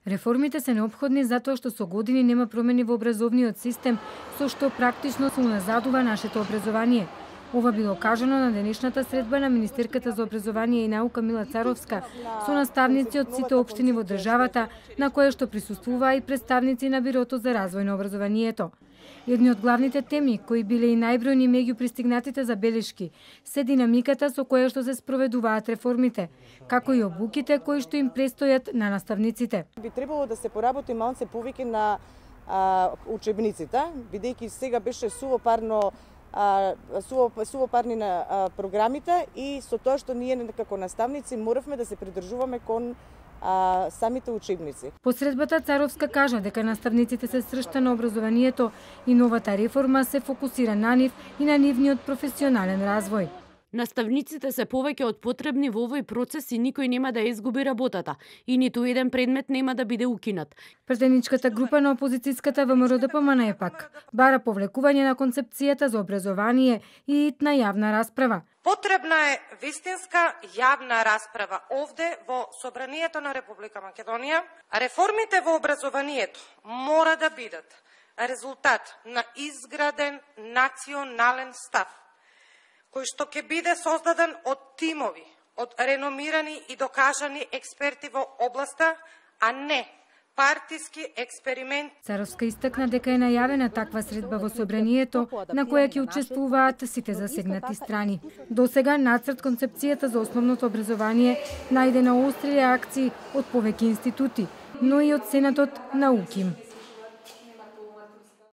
Реформите се неопходни затоа што со години нема промени во образовниот систем, со што практично се уназадува нашето образование. Ова било кажано на денешната средба на министерката за образование и наука Мила Царовска со наставници од сите општини во државата, на која што присуствуваа и представници на Бирото за развој на образованието. Едни од главните теми, кои биле и најбројни меѓу пристигнатите забелешки, се динамиката со која што се спроведуваат реформите, како и обуките кои што им престојат на наставниците. Би требало да се поработи малце повеќе на учебниците, бидејќи сега беше сувопарни на програмите и со тоа што ние како наставници моравме да се придржуваме кон самите учебници. По средбата Царовска кажа дека наставниците се сршта на образованието и новата реформа се фокусира на нив и на нивниот професионален развој. Наставниците се повеќе од потребни во овој процес и никој нема да изгуби работата и ниту еден предмет нема да биде укинат. Претедничката група на опозицијската ВМРО-ДПМН е пак бара повлекување на концепцијата за образование и на јавна расправа. Потребна е вистинска јавна расправа овде во Собранието на Република Македонија. Реформите во образованието мора да бидат резултат на изграден национален став, кој што ќе биде создаден од тимови, од реномирани и докажани експерти во областа, а не партиски експеримент. Царовска истакна дека е најавена таква средба во Собранието, на која ќе учествуваат сите засегнати страни. Досега нацрт концепцијата за основното образование најде на остри реакции од повеќе институти, но и од Сенатот на УКИМ.